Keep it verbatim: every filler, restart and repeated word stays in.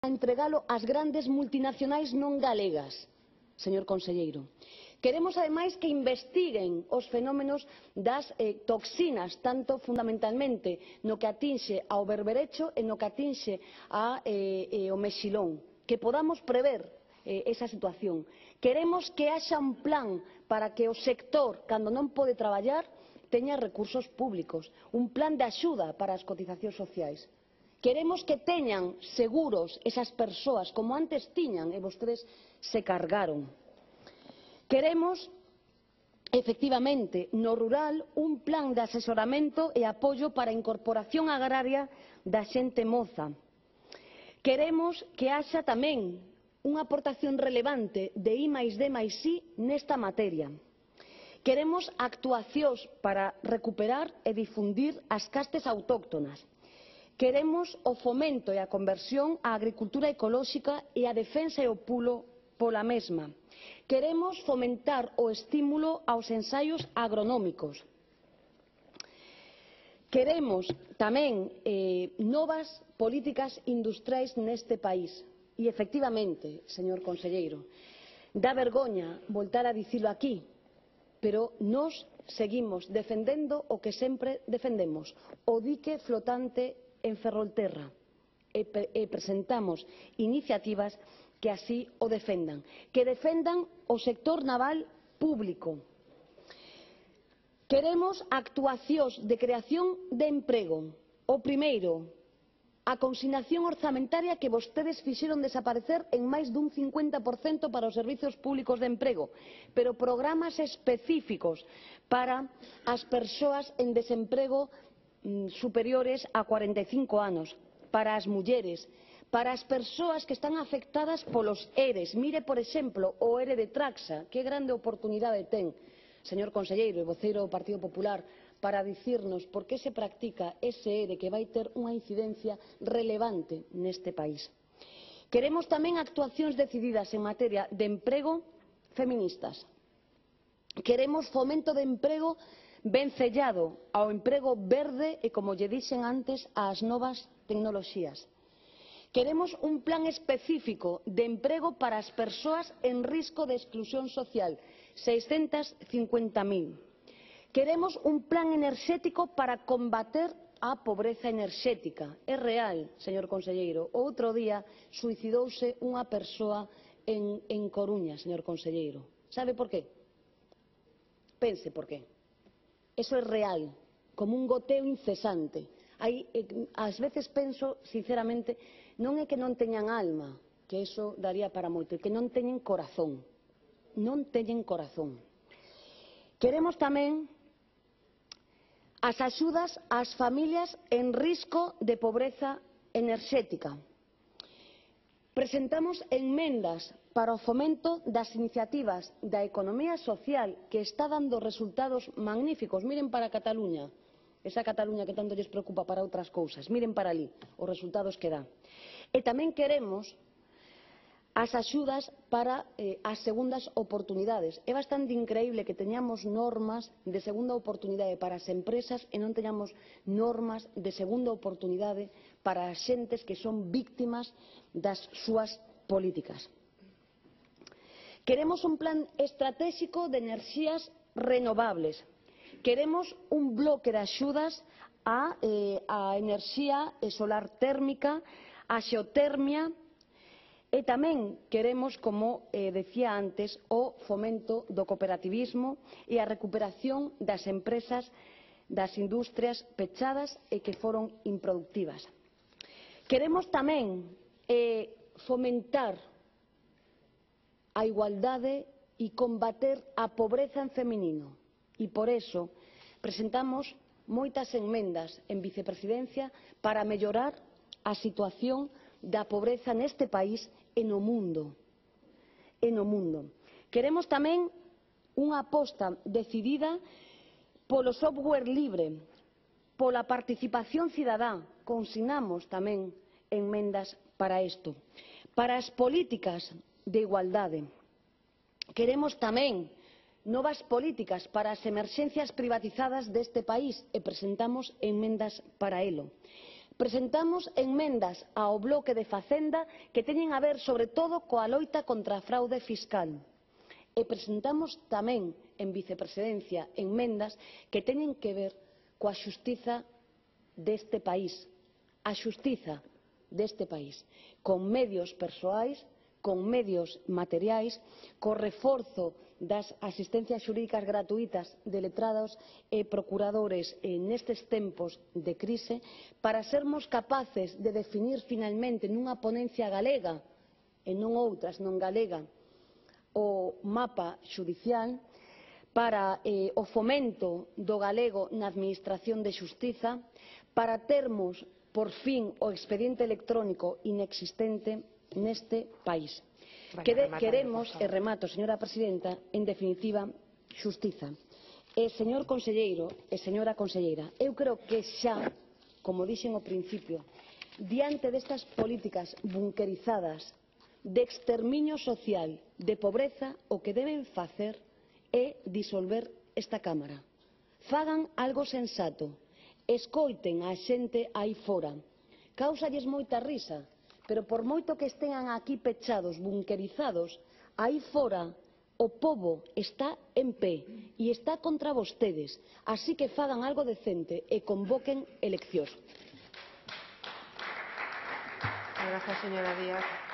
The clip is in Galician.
a entregalo ás grandes multinacionais non galegas, señor conselleiro. Queremos, ademais, que investiguen os fenómenos das eh, toxinas, tanto fundamentalmente no que atinxe ao berberecho e no que atinxe ao eh, eh, mexilón, que podamos prever eh, esa situación. Queremos que haxa un plan para que o sector, cando non pode traballar, teña recursos públicos, un plan de axuda para as cotizacións sociais. Queremos que teñan seguros esas persoas, como antes tiñan e vostedes se cargaron. Queremos, efectivamente, no rural, un plan de asesoramento e apoio para a incorporación agraria da xente moza. Queremos que haxa tamén unha aportación relevante de I máis D máis I nesta materia. Queremos actuacións para recuperar e difundir as castes autóctonas. Queremos o fomento e a conversión á agricultura ecolóxica e a defensa e o pulo pola mesma. Queremos fomentar o estímulo aos ensaios agronómicos. Queremos tamén eh, novas políticas industriais neste país. E, efectivamente, señor conselleiro, dá vergoña voltar a dicilo aquí, pero nós seguimos defendendo o que sempre defendemos, o dique flotante en Ferrolterra, e, e presentamos iniciativas que así o defendan, que defendan o sector naval público. Queremos actuacións de creación de emprego. O primeiro, a consignación orzamentaria que vostedes fixeron desaparecer en máis dun cincuenta por cento para os servizos públicos de emprego, pero programas específicos para as persoas en desemprego superiores a cuarenta e cinco anos, para as mulleres, para as persoas que están afectadas polos ERES. Mire, por exemplo, o ERE de Traxa, que grande oportunidade ten, señor conselleiro e voceiro do Partido Popular, para dicirnos por que se practica ese ERE que vai ter unha incidencia relevante neste país. Queremos tamén actuacións decididas en materia de emprego feministas. Queremos fomento de emprego vencellado ao emprego verde e, como lle dixen antes, ás novas tecnoloxías. Queremos un plan específico de emprego para as persoas en risco de exclusión social, seiscentas cincuenta mil. Queremos un plan enerxético para combater a pobreza enerxética. É real, señor conselleiro. O outro día suicidouse unha persoa en, en Coruña, señor conselleiro. Sabe por qué? Pense por qué. Eso é real, como un goteo incesante. Hai, ás veces penso, sinceramente, non é que non teñan alma, que eso daría para moito, é que non teñen corazón. Non teñen corazón. Queremos tamén as axudas ás familias en risco de pobreza enerxética. Presentamos enmendas para o fomento das iniciativas da economía social que está dando resultados magníficos. Miren para Cataluña, esa Cataluña que tanto lles preocupa para outras cousas. Miren para ali os resultados que dá. E tamén queremos as axudas para eh, as segundas oportunidades. É bastante increíble que teñamos normas de segunda oportunidade para as empresas e non teñamos normas de segunda oportunidade para as xentes que son víctimas das súas políticas. Queremos un plan estratégico de enerxías renovables. Queremos un bloque de axudas á eh, enerxía solar térmica, á xeotermia. E tamén queremos, como eh, decía antes, o fomento do cooperativismo e a recuperación das empresas, das industrias pechadas e que foron improductivas. Queremos tamén eh, fomentar a igualdade e combater a pobreza en feminino. E por eso presentamos moitas enmendas en vicepresidencia para mellorar a situación da pobreza neste país e no mundo. E no mundo. Queremos tamén unha aposta decidida polo software libre, pola participación cidadá. Consignamos tamén enmendas para isto. Para as políticas de igualdade. Queremos tamén novas políticas para as emerxencias privatizadas deste país e presentamos enmendas para elo. Presentamos enmendas ao bloque de Facenda que teñen a ver, sobre todo, coa loita contra a fraude fiscal. E presentamos tamén, en vicepresidencia, enmendas que teñen que ver coa xustiza deste país, a xustiza deste país, con medios persoais, con medios materiais, co reforzo das asistencias xurídicas gratuítas de letrados e procuradores nestes tempos de crise, para sermos capaces de definir finalmente nunha ponencia galega, e non outra, senón galega, o mapa xudicial, para eh, o fomento do galego na Administración de Xustiza, para termos, por fin, o expediente electrónico inexistente neste país. Quere, queremos, e remato, señora presidenta, en definitiva, xustiza. E, señor conselleiro e señora conselleira, eu creo que xa, como dixen ao principio, diante destas políticas bunquerizadas de exterminio social, de pobreza, o que deben facer é disolver esta Cámara. Fagan algo sensato, escoiten a xente aí fora. Cáusalles moita risa, pero por moito que estean aquí pechados, bunquerizados, aí fora o pobo está en pé e está contra vostedes. Así que fagan algo decente e convoquen eleccións. Gracias, señora Díaz.